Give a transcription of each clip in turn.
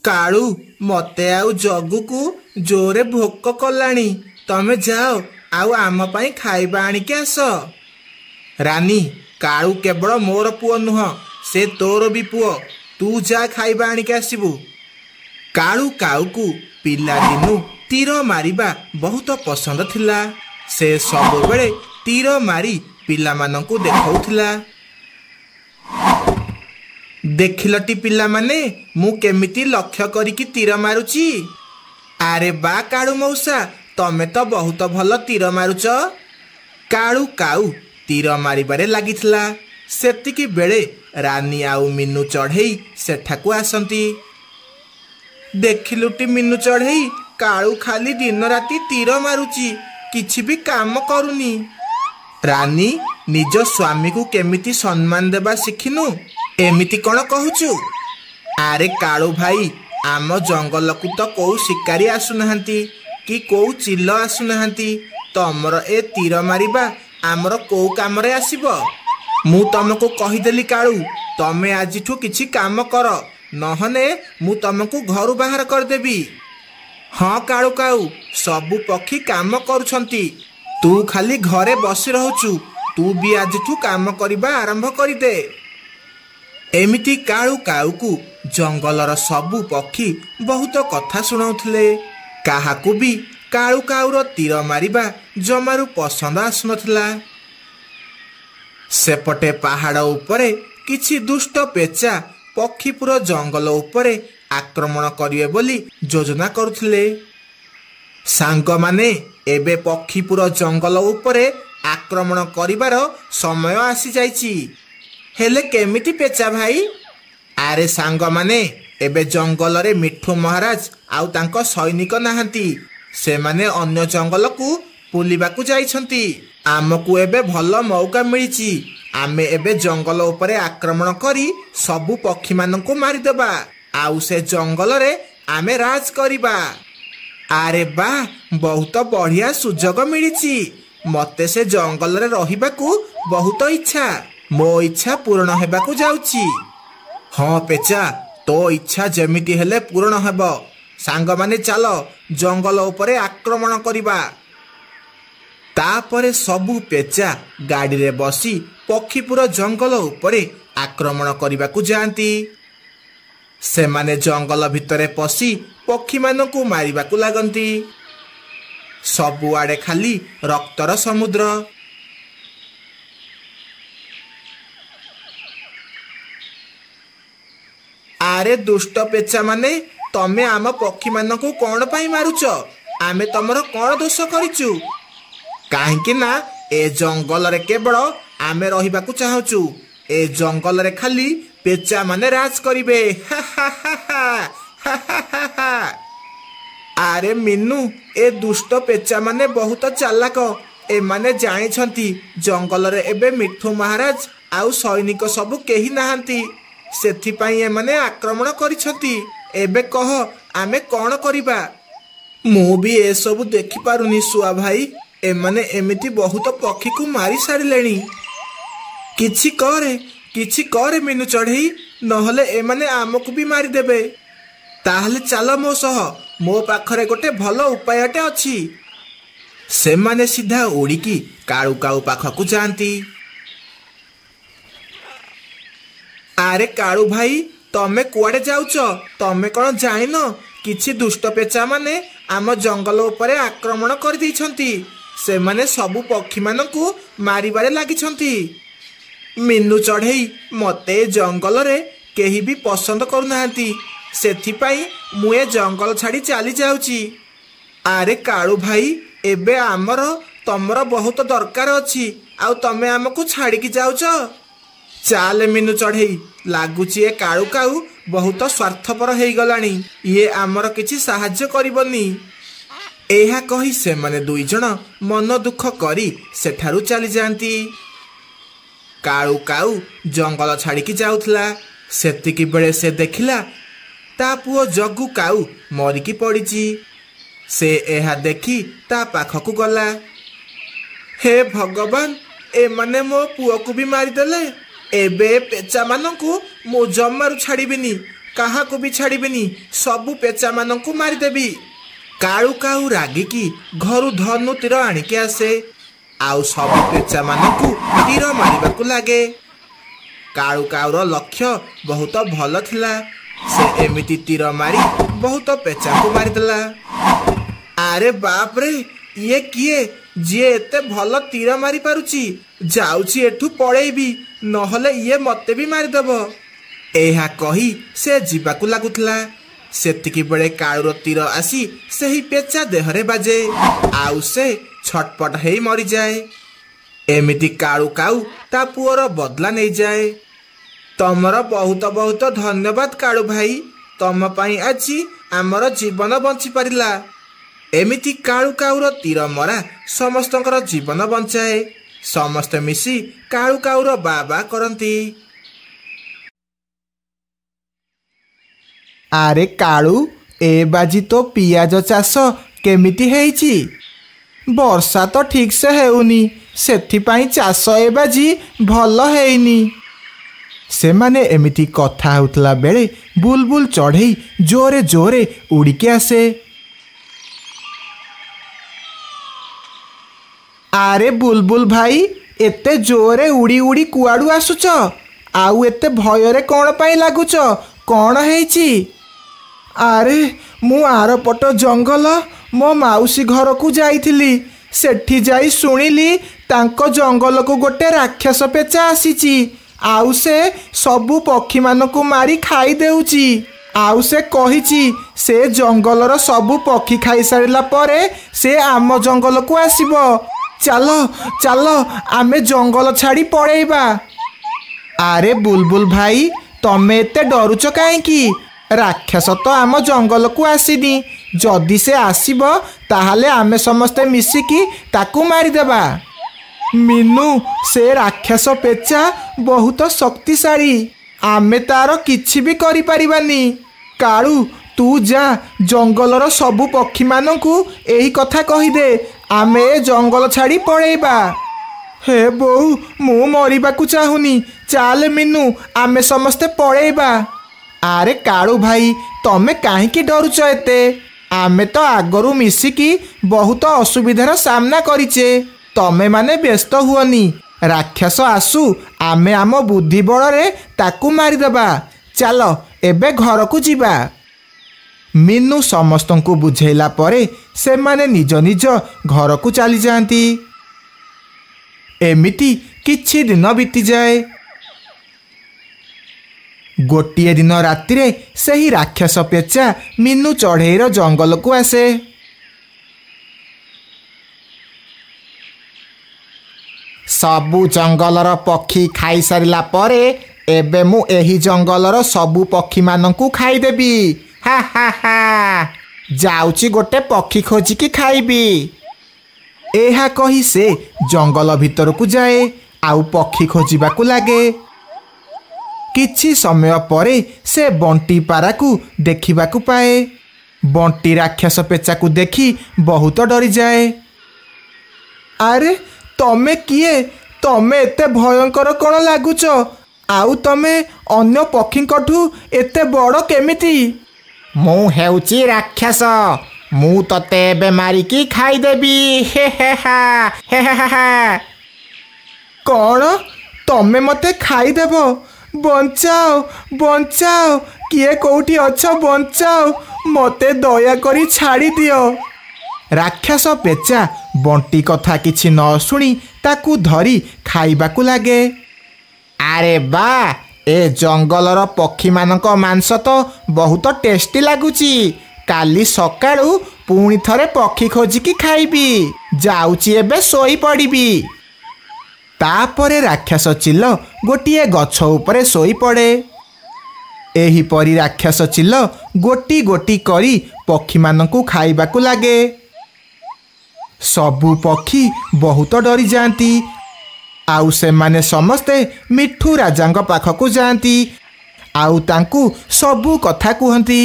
କାଳୁ, ମତେ ଆଉ ଜଗୁକୁ ଜୋରେ ଭୋକ କଲାଣି, ତମେ ଯାଅ ଆଉ ଆମ ପାଇଁ ଖାଇବା ଆଣିକି ଆସ। ରାନୀ, କାଳୁ କେବଳ ମୋର ପୁଅ ନୁହଁ, ସେ ତୋର ବି ପୁଅ। ତୁ ଯା ଖାଇବା ଆଣିକି ଆସିବୁ। କାଳୁ କାଉକୁ ପିଲାଦିନୁ ତୀର ମାରିବା ବହୁତ ପସନ୍ଦ ଥିଲା। ସେ ସବୁବେଳେ ତୀର ମାରି ପିଲାମାନଙ୍କୁ ଦେଖାଉଥିଲା। ଦେଖିଲଟି ପିଲାମାନେ, ମୁଁ କେମିତି ଲକ୍ଷ୍ୟ କରିକି ତୀର ମାରୁଛି। ଆରେ ବା କାଳୁ ମଉସା, ତମେ ତ ବହୁତ ଭଲ ତୀର ମାରୁଛ। କାଳୁ କାଉ ତୀର ମାରିବାରେ ଲାଗିଥିଲା, ସେତିକି ବେଳେ ରାନୀ ଆଉ ମିନୁ ଚଢ଼େଇ ସେଠାକୁ ଆସନ୍ତି। ଦେଖିଲୁଟି ମିନୁ ଚଢ଼େଇ, କାଳୁ ଖାଲି ଦିନ ରାତି ତୀର ମାରୁଛି, କିଛି ବି କାମ କରୁନି। ରାନୀ, ନିଜ ସ୍ୱାମୀକୁ କେମିତି ସମ୍ମାନ ଦେବା ଶିଖିନୁ? ଏମିତି କ'ଣ କହୁଛୁ? ଆରେ କାଳୁ ଭାଇ, ଆମ ଜଙ୍ଗଲକୁ ତ କୋଉ ଶିକାରୀ ଆସୁନାହାନ୍ତି କି କୋଉ ଚିଲ ଆସୁନାହାନ୍ତି। ତମର ଏ ତୀର ମାରିବା ଆମର କୋଉ କାମରେ ଆସିବ? ମୁଁ ତମକୁ କହିଦେଲି କାଳୁ, ତମେ ଆଜିଠୁ କିଛି କାମ କର, ନହେଲେ ମୁଁ ତମକୁ ଘରୁ ବାହାର କରିଦେବି। ହଁ କାଳୁ କାଉ, ସବୁ ପକ୍ଷୀ କାମ କରୁଛନ୍ତି, ତୁ ଖାଲି ଘରେ ବସି ରହୁଛୁ। ତୁ ବି ଆଜିଠୁ କାମ କରିବା ଆରମ୍ଭ କରିଦେ। ଏମିତି କାଳୁ କାଉକୁ ଜଙ୍ଗଲର ସବୁ ପକ୍ଷୀ ବହୁତ କଥା ଶୁଣାଉଥିଲେ। କାହାକୁ ବି କାଳୁ କାଉର ତୀର ମାରିବା ଜମାରୁ ପସନ୍ଦ ଆସୁନଥିଲା। ସେପଟେ ପାହାଡ଼ ଉପରେ କିଛି ଦୁଷ୍ଟ ପେଚା ପକ୍ଷୀପୁର ଜଙ୍ଗଲ ଉପରେ ଆକ୍ରମଣ କରିବେ ବୋଲି ଯୋଜନା କରୁଥିଲେ। ସାଙ୍ଗମାନେ, ଏବେ ପକ୍ଷୀପୁର ଜଙ୍ଗଲ ଉପରେ ଆକ୍ରମଣ କରିବାର ସମୟ ଆସିଯାଇଛି। ହେଲେ କେମିତି ପେଚା ଭାଇ? ଆରେ ସାଙ୍ଗମାନେ, ଏବେ ଜଙ୍ଗଲରେ ମିଠୁ ମହାରାଜ ଆଉ ତାଙ୍କ ସୈନିକ ନାହାନ୍ତି। ସେମାନେ ଅନ୍ୟ ଜଙ୍ଗଲକୁ ବୁଲିବାକୁ ଯାଇଛନ୍ତି। ଆମକୁ ଏବେ ଭଲ ମୌକା ମିଳିଛି। ଆମେ ଏବେ ଜଙ୍ଗଲ ଉପରେ ଆକ୍ରମଣ କରି ସବୁ ପକ୍ଷୀମାନଙ୍କୁ ମାରିଦେବା, ଆଉ ସେ ଜଙ୍ଗଲରେ ଆମେ ରାଜ କରିବା। ଆରେ ବା, ବହୁତ ବଢିଆ ସୁଯୋଗ ମିଳିଛି। ମତେ ସେ ଜଙ୍ଗଲରେ ରହିବାକୁ ବହୁତ ଇଚ୍ଛା। ମୋ ଇଚ୍ଛା ପୂରଣ ହେବାକୁ ଯାଉଛି। ହଁ ପେଚା, ତୋ ଇଚ୍ଛା ଯେମିତି ହେଲେ ପୂରଣ ହେବ। ସାଙ୍ଗମାନେ, ଚାଲ ଜଙ୍ଗଲ ଉପରେ ଆକ୍ରମଣ କରିବା। ତାପରେ ସବୁ ପେଚା ଗାଡ଼ିରେ ବସି ପକ୍ଷୀପୁର ଜଙ୍ଗଲ ଉପରେ ଆକ୍ରମଣ କରିବାକୁ ଯାଆନ୍ତି। ସେମାନେ ଜଙ୍ଗଲ ଭିତରେ ପଶି ପକ୍ଷୀମାନଙ୍କୁ ମାରିବାକୁ ଲାଗନ୍ତି। ସବୁଆଡ଼େ ଖାଲି ରକ୍ତର ସମୁଦ୍ର। ଆରେ ଦୁଷ୍ଟ ପେଚା ମାନେ, ତମେ ଆମ ପକ୍ଷୀମାନଙ୍କୁ କ'ଣ ପାଇଁ ମାରୁଛ? ଆମେ ତମର କ'ଣ ଦୋଷ କରିଛୁ? କାହିଁକି ନା ଏ ଜଙ୍ଗଲରେ କେବଳ ଆମେ ରହିବାକୁ ଚାହୁଁଛୁ। ଏ ଜଙ୍ଗଲରେ ଖାଲି ପେଚା ମାନେ ରାଜ କରିବେ। ଆରେ ମିନୁ, ଏ ଦୁଷ୍ଟ ପେଚା ମାନେ ବହୁତ ଚାଲାକ। ଏମାନେ ଜାଣିଛନ୍ତି ଜଙ୍ଗଲରେ ଏବେ ମିଠୁ ମହାରାଜ ଆଉ ସୈନିକ ସବୁ କେହି ନାହାନ୍ତି, ସେଥିପାଇଁ ଏମାନେ ଆକ୍ରମଣ କରିଛନ୍ତି। ଏବେ କହ, ଆମେ କ'ଣ କରିବା? ମୁଁ ବି ଏସବୁ ଦେଖିପାରୁନି ଶୁଆ ଭାଇ। ଏମାନେ ଏମିତି ବହୁତ ପକ୍ଷୀକୁ ମାରି ସାରିଲେଣି। କିଛି କରେ, କିଛି କରେ ମିନୁ ଚଢ଼େଇ, ନହେଲେ ଏମାନେ ଆମକୁ ବି ମାରିଦେବେ। ତାହେଲେ ଚାଲ ମୋ ସହ, ମୋ ପାଖରେ ଗୋଟେ ଭଲ ଉପାୟଟେ ଅଛି। ସେମାନେ ସିଧା ଉଡ଼ିକି କାଳୁ କାଉ ପାଖକୁ ଯାଆନ୍ତି। ଆରେ କାଳୁ ଭାଇ, ତମେ କୁଆଡ଼େ ଯାଉଛ? ତମେ କ'ଣ ଜାଣିନ କିଛି ଦୁଷ୍ଟ ପେଚା ମାନେ ଆମ ଜଙ୍ଗଲ ଉପରେ ଆକ୍ରମଣ କରିଦେଇଛନ୍ତି? ସେମାନେ ସବୁ ପକ୍ଷୀମାନଙ୍କୁ ମାରିବାରେ ଲାଗିଛନ୍ତି। ମିନୁ ଚଢ଼େଇ, ମତେ ଏ ଜଙ୍ଗଲରେ କେହି ବି ପସନ୍ଦ କରୁନାହାନ୍ତି, ସେଥିପାଇଁ ମୁଁ ଏ ଜଙ୍ଗଲ ଛାଡ଼ି ଚାଲି ଯାଉଛି। ଆରେ କାଳୁ ଭାଇ, ଏବେ ଆମର ତମର ବହୁତ ଦରକାର ଅଛି, ଆଉ ତମେ ଆମକୁ ଛାଡ଼ିକି ଯାଉଛ? ଚାଲେ ମିନୁ ଚଢ଼େଇ, ଲାଗୁଛି ଏ କାଳୁ କାଉ ବହୁତ ସ୍ୱାର୍ଥପର ହେଇଗଲାଣି। ଇଏ ଆମର କିଛି ସାହାଯ୍ୟ କରିବନି। ଏହା କହି ସେମାନେ ଦୁଇ ଜଣ ମନ ଦୁଃଖ କରି ସେଠାରୁ ଚାଲିଯାଆନ୍ତି। କାଳୁ କାଉ ଜଙ୍ଗଲ ଛାଡ଼ିକି ଯାଉଥିଲା, ସେତିକି ବେଳେ ସେ ଦେଖିଲା ତା ପୁଅ ଜଗୁ କାଉ ମରିକି ପଡ଼ିଛି। ସେ ଏହା ଦେଖି ତା ପାଖକୁ ଗଲା। ହେ ଭଗବାନ, ଏମାନେ ମୋ ପୁଅକୁ ବି ମାରିଦେଲେ। ଏବେ ପେଚାମାନଙ୍କୁ ମୁଁ ଜମାରୁ ଛାଡ଼ିବିନି। କାହାକୁ ବି ଛାଡ଼ିବିନି, ସବୁ ପେଚାମାନଙ୍କୁ ମାରିଦେବି। କାଳୁ କାଉ ରାଗିକି ଘରୁ ଧନୁ ତୀର ଆଣିକି ଆସେ ଆଉ ସବୁ ପେଚାମାନଙ୍କୁ ତୀର ମାରିବାକୁ ଲାଗେ। କାଳୁ କାଉର ଲକ୍ଷ୍ୟ ବହୁତ ଭଲ ଥିଲା। ସେ ଏମିତି ତୀର ମାରି ବହୁତ ପେଚାଙ୍କୁ ମାରିଦେଲା। ଆରେ ବାପରେ, ଇଏ କିଏ ଯିଏ ଏତେ ଭଲ ତୀର ମାରି ପାରୁଛି? ଯାଉଛି ଏଠୁ ପଳେଇବି, ନହେଲେ ଇଏ ମତେ ବି ମାରିଦେବ। ଏହା କହି ସେ ଯିବାକୁ ଲାଗୁଥିଲା, ସେତିକି ବେଳେ କାଳୁର ତୀର ଆସି ସେହି ପେଚା ଦେହରେ ବାଜେ ଆଉ ସେ ଛଟପଟ ହେଇ ମରିଯାଏ। ଏମିତି କାଳୁ କାଉ ତା ପୁଅର ବଦଲା ନେଇଯାଏ। ତମର ବହୁତ ବହୁତ ଧନ୍ୟବାଦ କାଳୁ ଭାଇ, ତମ ପାଇଁ ଆଜି ଆମର ଜୀବନ ବଞ୍ଚି ପାରିଲା। ଏମିତି କାଳୁ କାଉର ତୀର ମରା ସମସ୍ତଙ୍କର ଜୀବନ ବଞ୍ଚାଏ। ସମସ୍ତେ ମିଶି କାଳୁ କାଉର ବା ବା କରନ୍ତି। ଆରେ କାଳୁ, ଏ ବାଜି ତୋ ପିଆଜ ଚାଷ କେମିତି ହେଇଛି? ବର୍ଷା ତ ଠିକସେ ହେଉନି, ସେଥିପାଇଁ ଚାଷ ଏ ବାଜି ଭଲ ହେଇନି। ସେମାନେ ଏମିତି କଥା ହେଉଥିଲା ବେଳେ ବୁଲବୁଲ ଚଢ଼େଇ ଜୋରେ ଜୋରେ ଉଡ଼ିକି ଆସେ। ଆରେ ବୁଲବୁଲ ଭାଇ, ଏତେ ଜୋରେ ଉଡ଼ି ଉଡ଼ି କୁଆଡ଼ୁ ଆସୁଛ? ଆଉ ଏତେ ଭୟରେ କ'ଣ ପାଇଁ ଲାଗୁଛ? କ'ଣ ହେଇଛି? ଆରେ ମୁଁ ଆରପଟ ଜଙ୍ଗଲ ମୋ ମାଉସୀ ଘରକୁ ଯାଇଥିଲି। ସେଠି ଯାଇ ଶୁଣିଲି ତାଙ୍କ ଜଙ୍ଗଲକୁ ଗୋଟେ ରାକ୍ଷସ ପେଚା ଆସିଛି ଆଉ ସେ ସବୁ ପକ୍ଷୀମାନଙ୍କୁ ମାରି ଖାଇଦେଉଛି। ଆଉ ସେ କହିଛି ସେ ଜଙ୍ଗଲର ସବୁ ପକ୍ଷୀ ଖାଇସାରିଲା ପରେ ସେ ଆମ ଜଙ୍ଗଲକୁ ଆସିବ। ଚାଲ ଚାଲ, ଆମେ ଜଙ୍ଗଲ ଛାଡ଼ି ପଳେଇବା। ଆରେ ବୁଲବୁଲ ଭାଇ, ତମେ ଏତେ ଡରୁଛ କାହିଁକି? ରାକ୍ଷସ ତ ଆମ ଜଙ୍ଗଲକୁ ଆସିନି। ଯଦି ସେ ଆସିବ ତାହେଲେ ଆମେ ସମସ୍ତେ ମିଶିକି ତାକୁ ମାରିଦେବା। ମିନୁ, ସେ ରାକ୍ଷସ ପେଚା ବହୁତ ଶକ୍ତିଶାଳୀ, ଆମେ ତାର କିଛି ବି କରିପାରିବାନି। କାଳୁ, ତୁ ଯା ଜଙ୍ଗଲର ସବୁ ପକ୍ଷୀମାନଙ୍କୁ ଏହି କଥା କହିଦେ, ଆମେ ଏ ଜଙ୍ଗଲ ଛାଡ଼ି ପଳେଇବା। ହେ ବୋଉ, ମୁଁ ମରିବାକୁ ଚାହୁଁନି। ଚାଲ ମିନୁ, ଆମେ ସମସ୍ତେ ପଳେଇବା। ଆରେ କାଳୁ ଭାଇ, ତମେ କାହିଁକି ଡରୁଛ ଏତେ? ଆମେ ତ ଆଗରୁ ମିଶିକି ବହୁତ ଅସୁବିଧାର ସାମ୍ନା କରିଛେ। ତମେମାନେ ବ୍ୟସ୍ତ ହୁଅନି, ରାକ୍ଷସ ଆସୁ, ଆମେ ଆମ ବୁଦ୍ଧି ବଳରେ ତାକୁ ମାରିଦେବା। ଚାଲ ଏବେ ଘରକୁ ଯିବା। ମିନୁ ସମସ୍ତଙ୍କୁ ବୁଝେଇଲା ପରେ ସେମାନେ ନିଜ ନିଜ ଘରକୁ ଚାଲିଯାଆନ୍ତି। ଏମିତି କିଛି ଦିନ ବିତିଯାଏ। ଗୋଟିଏ ଦିନ ରାତିରେ ସେହି ରାକ୍ଷସ ପେଚା ମିନୁ ଚଢ଼େଇର ଜଙ୍ଗଲକୁ ଆସେ। ସବୁ ଜଙ୍ଗଲର ପକ୍ଷୀ ଖାଇସାରିଲା ପରେ ଏବେ ମୁଁ ଏହି ଜଙ୍ଗଲର ସବୁ ପକ୍ଷୀମାନଙ୍କୁ ଖାଇଦେବି। ହା ହା ହା, ଯାଉଛି ଗୋଟେ ପକ୍ଷୀ ଖୋଜିକି ଖାଇବି। ଏହା କହି ସେ ଜଙ୍ଗଲ ଭିତରକୁ ଯାଏ ଆଉ ପକ୍ଷୀ ଖୋଜିବାକୁ ଲାଗେ। କିଛି ସମୟ ପରେ ସେ ବଣ୍ଟି ପାରାକୁ ଦେଖିବାକୁ ପାଏ। ବଣ୍ଟି ରାକ୍ଷସ ପେଚାକୁ ଦେଖି ବହୁତ ଡରିଯାଏ। ଆରେ ତମେ କିଏ? ତମେ ଏତେ ଭୟଙ୍କର କ'ଣ ଲାଗୁଛ? ଆଉ ତମେ ଅନ୍ୟ ପକ୍ଷୀଙ୍କଠୁ ଏତେ ବଡ଼ କେମିତି? ମୁଁ ହେଉଛି ରାକ୍ଷସ, ମୁଁ ତତେ ଏବେ ମାରିକି ଖାଇଦେବି। ହେ ହେ ହା ହେ ହେ ହା। କ'ଣ ତମେ ମତେ ଖାଇଦେବ? ବଞ୍ଚାଅ ବଞ୍ଚାଅ, କିଏ କୋଉଠି ଅଛ, ବଞ୍ଚାଅ ମତେ, ଦୟାକରି ଛାଡ଼ିଦିଅ। ରାକ୍ଷସ ପେଚା ବଣ୍ଟି କଥା କିଛି ନ ଶୁଣି ତାକୁ ଧରି ଖାଇବାକୁ ଲାଗେ। ଆରେ ବା, ଏ ଜଙ୍ଗଲର ପକ୍ଷୀମାନଙ୍କ ମାଂସ ତ ବହୁତ ଟେଷ୍ଟି ଲାଗୁଛି। କାଲି ସକାଳୁ ପୁଣି ଥରେ ପକ୍ଷୀ ଖୋଜିକି ଖାଇବି। ଯାଉଛି ଏବେ ଶୋଇପଡ଼ିବି। ତାପରେ ରାକ୍ଷସ ଚିଲ ଗୋଟିଏ ଗଛ ଉପରେ ଶୋଇପଡ଼େ। ଏହିପରି ରାକ୍ଷସ ଚିଲ ଗୋଟି ଗୋଟି କରି ପକ୍ଷୀମାନଙ୍କୁ ଖାଇବାକୁ ଲାଗେ। ସବୁ ପକ୍ଷୀ ବହୁତ ଡରିଯାଆନ୍ତି ଆଉ ସେମାନେ ସମସ୍ତେ ମିଠୁ ରାଜାଙ୍କ ପାଖକୁ ଯାଆନ୍ତି ଆଉ ତାଙ୍କୁ ସବୁ କଥା କୁହନ୍ତି।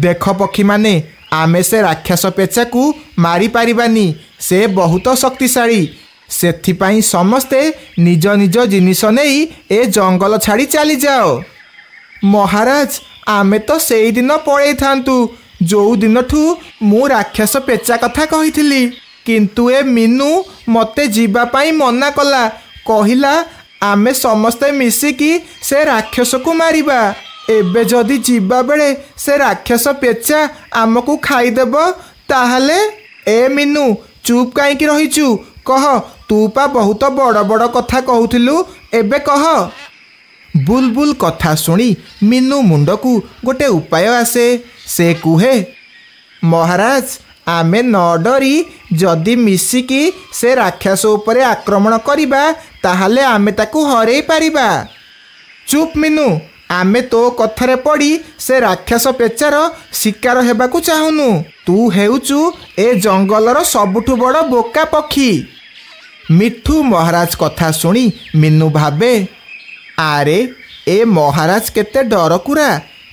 ଦେଖ ପକ୍ଷୀମାନେ, ଆମେ ସେ ରାକ୍ଷସ ପେଚାକୁ ମାରିପାରିବାନି, ସେ ବହୁତ ଶକ୍ତିଶାଳୀ। ସେଥିପାଇଁ ସମସ୍ତେ ନିଜ ନିଜ ଜିନିଷ ନେଇ ଏ ଜଙ୍ଗଲ ଛାଡ଼ି ଚାଲିଯାଅ। ମହାରାଜ, ଆମେ ତ ସେଇଦିନ ପଳେଇଥାନ୍ତୁ ଯୋଉ ଦିନଠୁ ମୁଁ ରାକ୍ଷସ ପେଚା କଥା କହିଥିଲି, କିନ୍ତୁ ଏ ମିନୁ ମୋତେ ଯିବା ପାଇଁ ମନା କଲା। କହିଲା ଆମେ ସମସ୍ତେ ମିଶିକି ସେ ରାକ୍ଷସକୁ ମାରିବା। ଏବେ ଯଦି ଯିବା ବେଳେ ସେ ରାକ୍ଷସ ପେଚା ଆମକୁ ଖାଇଦେବ ତାହେଲେ? ଏ ମିନୁ, ଚୁପ୍ କାହିଁକି ରହିଛୁ? କହ, ତୁ ପା ବହୁତ ବଡ଼ ବଡ଼ କଥା କହୁଥିଲୁ, ଏବେ କହ। ବୁଲବୁଲ କଥା ଶୁଣି ମିନୁ ମୁଣ୍ଡକୁ ଗୋଟେ ଉପାୟ ଆସେ। ସେ କୁହେ, ମହାରାଜ, ଆମେ ନ ଡରି ଯଦି ମିଶିକି ସେ ରାକ୍ଷସ ଉପରେ ଆକ୍ରମଣ କରିବା, ତାହେଲେ ଆମେ ତାକୁ ହରେଇ ପାରିବା। ଚୁପ୍ ମିନୁ, ଆମେ ତୋ କଥାରେ ପଡ଼ି ସେ ରାକ୍ଷସ ପେଚାର ଶିକାର ହେବାକୁ ଚାହୁଁନୁ। ତୁ ହେଉଛୁ ଏ ଜଙ୍ଗଲର ସବୁଠୁ ବଡ଼ ବୋକା ପକ୍ଷୀ। ମିଠୁ ମହାରାଜ କଥା ଶୁଣି ମିନୁ ଭାବେ, ଆରେ ଏ ମହାରାଜ କେତେ ଡରକୁରା,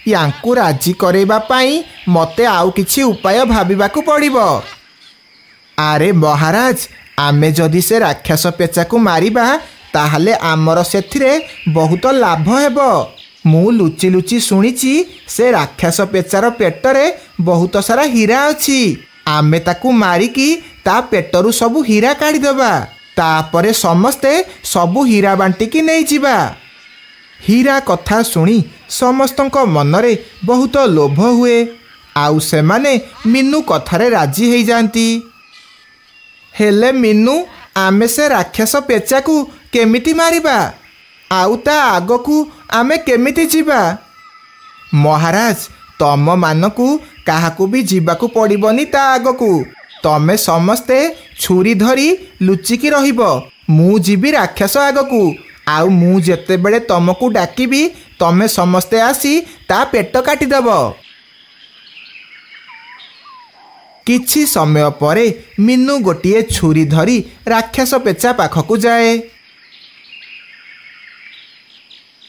ୟାଙ୍କୁ ରାଜି କରେଇବା ପାଇଁ ମୋତେ ଆଉ କିଛି ଉପାୟ ଭାବିବାକୁ ପଡ଼ିବ। ଆରେ ମହାରାଜ, ଆମେ ଯଦି ସେ ରାକ୍ଷସ ପେଚାକୁ ମାରିବା, ତାହେଲେ ଆମର ସେଥିରେ ବହୁତ ଲାଭ ହେବ। ମୁଁ ଲୁଚି ଲୁଚି ଶୁଣିଛି ସେ ରାକ୍ଷସ ପେଚାର ପେଟରେ ବହୁତ ସାରା ହୀରା ଅଛି। ଆମେ ତାକୁ ମାରିକି ତା ପେଟରୁ ସବୁ ହୀରା କାଢ଼ିଦେବା, ତାପରେ ସମସ୍ତେ ସବୁ ହୀରା ବାଣ୍ଟିକି ନେଇଯିବା। ହୀରା କଥା ଶୁଣି ସମସ୍ତଙ୍କ ମନରେ ବହୁତ ଲୋଭ ହୁଏ, ଆଉ ସେମାନେ ମିନୁ କଥାରେ ରାଜି ହେଇଯାଆନ୍ତି। ହେଲେ ମିନୁ, ଆମେ ସେ ରାକ୍ଷସ ପେଚାକୁ କେମିତି ମାରିବା, ଆଉ ତା ଆଗକୁ ଆମେ କେମିତି ଯିବା? ମହାରାଜ, ତମମାନଙ୍କୁ କାହାକୁ ବି ଯିବାକୁ ପଡ଼ିବନି ତା ଆଗକୁ। ତମେ ସମସ୍ତେ ଛୁରୀ ଧରି ଲୁଚିକି ରହିବ। ମୁଁ ଯିବି ରାକ୍ଷସ ଆଗକୁ, ଆଉ ମୁଁ ଯେତେବେଳେ ତମକୁ ଡାକିବି ତମେ ସମସ୍ତେ ଆସି ତା ପେଟ କାଟିଦେବ। କିଛି ସମୟ ପରେ ମିନୁ ଗୋଟିଏ ଛୁରୀ ଧରି ରାକ୍ଷସ ପେଚା ପାଖକୁ ଯାଏ।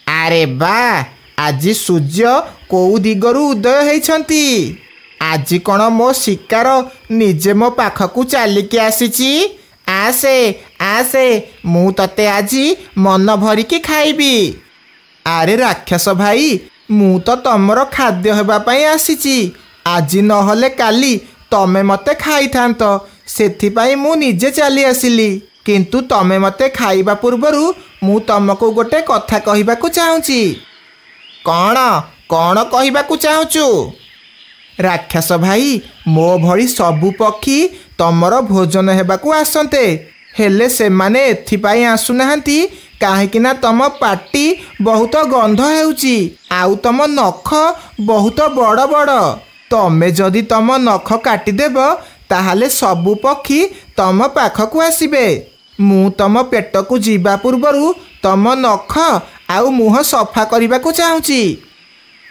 ଆରେ ବା, ଆଜି ସୂର୍ଯ୍ୟ କୋଉ ଦିଗରୁ ଉଦୟ ହେଇଛନ୍ତି? ଆଜି କ'ଣ ମୋ ଶିକାର ନିଜେ ମୋ ପାଖକୁ ଚାଲିକି ଆସିଛି? ଆସେ ଆସେ, ମୁଁ ତତେ ଆଜି ମନ ଭରିକି ଖାଇବି। ଆରେ ରାକ୍ଷସ ଭାଇ, ମୁଁ ତ ତମର ଖାଦ୍ୟ ହେବା ପାଇଁ ଆସିଛି। ଆଜି ନହେଲେ କାଲି ତମେ ମୋତେ ଖାଇଥାନ୍ତ, ସେଥିପାଇଁ ମୁଁ ନିଜେ ଚାଲି ଆସିଲି। କିନ୍ତୁ ତମେ ମୋତେ ଖାଇବା ପୂର୍ବରୁ ମୁଁ ତମକୁ ଗୋଟେ କଥା କହିବାକୁ ଚାହୁଁଛି। କ'ଣ କ'ଣ କହିବାକୁ ଚାହୁଁଛୁ? ରାକ୍ଷସ ଭାଇ, ମୋ ଭଳି ସବୁ ପକ୍ଷୀ ତମର ଭୋଜନ ହେବାକୁ ଆସନ୍ତେ, ହେଲେ ସେମାନେ ଏଥିପାଇଁ ଆସୁନାହାନ୍ତି କାହିଁକି ନା ତମ ପାଟି ବହୁତ ଗନ୍ଧ ହେଉଛି, ଆଉ ତମ ନଖ ବହୁତ ବଡ଼ ବଡ଼। ତମେ ଯଦି ତମ ନଖ କାଟିଦେବ, ତାହେଲେ ସବୁ ପକ୍ଷୀ ତମ ପାଖକୁ ଆସିବେ। ମୁଁ ତମ ପେଟକୁ ଯିବା ପୂର୍ବରୁ ତମ ନଖ ଆଉ ମୁହଁ ସଫା କରିବାକୁ ଚାହୁଁଛି।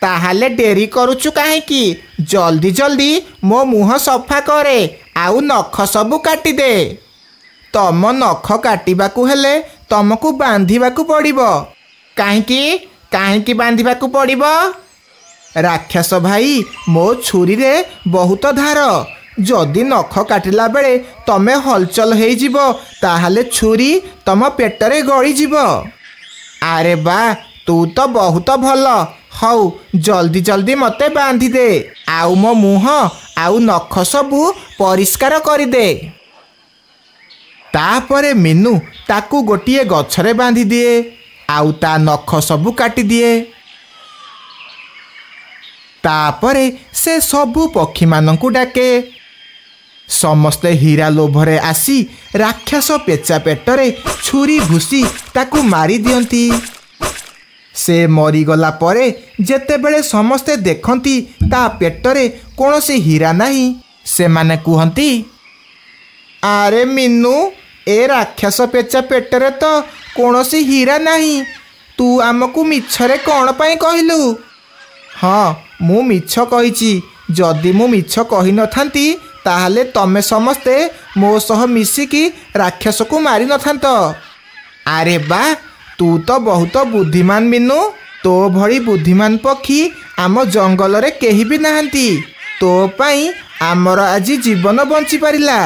ତାହେଲେ ଡେରି କରୁଛୁ କାହିଁକି? ଜଲ୍ଦି ଜଲ୍ଦି ମୋ ମୁହଁ ସଫା କରେ ଆଉ ନଖ ସବୁ କାଟିଦେ। ତମ ନଖ କାଟିବାକୁ ହେଲେ ତମକୁ ବାନ୍ଧିବାକୁ ପଡ଼ିବ। କାହିଁକି? କାହିଁକି ବାନ୍ଧିବାକୁ ପଡ଼ିବ? ରାକ୍ଷସ ଭାଇ, ମୋ ଛୁରୀରେ ବହୁତ ଧାର। ଯଦି ନଖ କାଟିଲା ବେଳେ ତମେ ହଲଚଲ ହେଇଯିବ, ତାହେଲେ ଛୁରୀ ତମ ପେଟରେ ଗଳିଯିବ। ଆରେ ବା, ତୁ ତ ବହୁତ ଭଲ। ହଉ, ଜଲ୍ଦି ଜଲ୍ଦି ମୋତେ ବାନ୍ଧିଦେ ଆଉ ମୋ ମୁହଁ ଆଉ ନଖ ସବୁ ପରିଷ୍କାର କରିଦେ। ତାପରେ ମିନୁ ତାକୁ ଗୋଟିଏ ଗଛରେ ବାନ୍ଧିଦିଏ ଆଉ ତା ନଖ ସବୁ କାଟିଦିଏ। ତାପରେ ସେ ସବୁ ପକ୍ଷୀମାନଙ୍କୁ ଡାକେ। ସମସ୍ତେ ହୀରା ଲୋଭରେ ଆସି ରାକ୍ଷସ ପେଚା ପେଟରେ ଛୁରୀ ଭୁସି ତାକୁ ମାରି ଦିଅନ୍ତି। ସେ ମରିଗଲା ପରେ ଯେତେବେଳେ ସମସ୍ତେ ଦେଖନ୍ତି ତା ପେଟରେ କୌଣସି ହୀରା ନାହିଁ, ସେମାନେ କୁହନ୍ତି, ଆରେ ମିନୁ, ଏ ରାକ୍ଷସ ପେଚା ପେଟରେ ତ କୌଣସି ହୀରା ନାହିଁ, ତୁ ଆମକୁ ମିଛରେ କ'ଣ ପାଇଁ କହିଲୁ? ହଁ, ମୁଁ ମିଛ କହିଛି। ଯଦି ମୁଁ ମିଛ କହିନଥାନ୍ତି, ତାହେଲେ ତମେ ସମସ୍ତେ ମୋ ସହ ମିଶିକି ରାକ୍ଷସକୁ ମାରିନଥାନ୍ତ। ଆରେ ବା, ତୁ ତ ବହୁତ ବୁଦ୍ଧିମାନ ମିନୁ। ତୋ ଭଳି ବୁଦ୍ଧିମାନ ପକ୍ଷୀ ଆମ ଜଙ୍ଗଲରେ କେହି ବି ନାହାନ୍ତି। ତୋ ପାଇଁ ଆମର ଆଜି ଜୀବନ ବଞ୍ଚିପାରିଲା।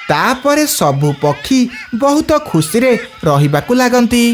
ତାପରେ ସବୁ ପକ୍ଷୀ ବହୁତ ଖୁସିରେ ରହିବାକୁ ଲାଗନ୍ତି।